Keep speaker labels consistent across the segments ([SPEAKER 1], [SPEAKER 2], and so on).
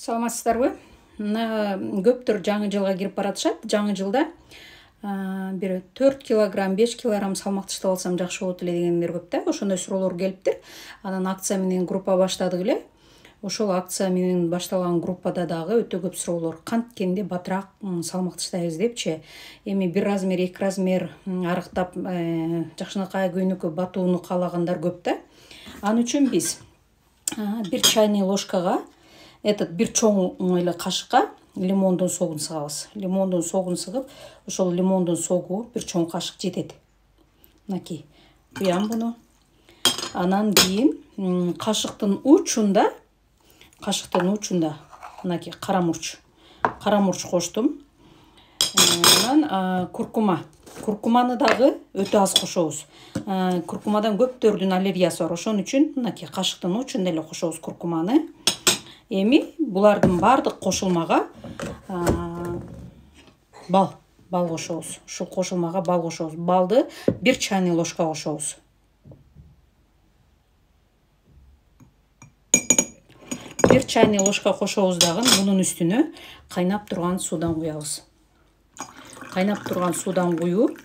[SPEAKER 1] Саламатсыздарбы? Мына көптөр жаңы жылга кирип баратышат. Жаңы жылда бир 4 килограмм, 5 килограмм салмак таштап алсам жакшы болот эле дегендер көп да. Ошондой суроолор келиптир. Анан акция менен группа баштадык эле. Ошол акция менен башталган группада дагы өтө көп суроолор. Канткенде батыраак салмак таштайбыз депчи. Эми 1 размер, 2 размер арыктап жакшынакай көйнөккө батууну каалагандар көп да. Ал үчүн биз 1 чайный ложкага бир чоң эле кашыкка лимондун согун сыгабыз. Лимондун согун сыгып, ошол лимондун согу бир чоң кашык жетет. Мынакей, куям буну. Анан кийин кашыктын учунда мынакей кара мурч коштум. Анан куркуманы дагы өтө аз кошобуз. Куркумадан көптөрдүн аллергиясы бар. Ошон үчүн мынакей кашыктын учунда эле кошобуз куркуманы. Эми булардын бардык кошулмага бал кошобуз. Ушул кошулмага бал кошобуз. Балды 1 чайный ложка кошобуз. 1 чайный ложка кошобуз дагы мунун үстүнө кайнап турган суудан куябыз. Кайнап турган суудан куюп,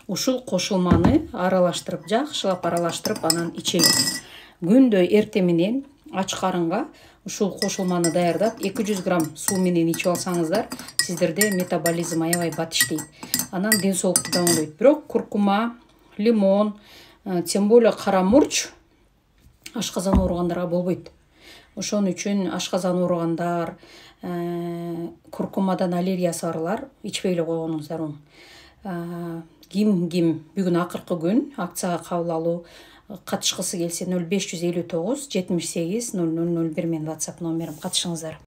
[SPEAKER 1] ушул кошулманы жакшылап аралаштырып анан ичебиз. Күндө эртең менен ач карынга ушул кошулманы даярдап 200 грамм суу менен ичип алсаңыздар, сиздерде метаболизм аябай бат иштейт. Анан ден соолукту да оңдойт. Бирок куркума, лимон, тем более кара мурч ашказан ооругандарга болбойт. Ошон үчүн ашказан ооругандар, куркумадан аллергиясы барлар ичпей эле койгонуңуздар оң. Ким бүгүн акыркы күн акцияга кабыл алуу катышкысы келсе 0559 78 0001 менин WhatsApp номерим, катышыңыздар.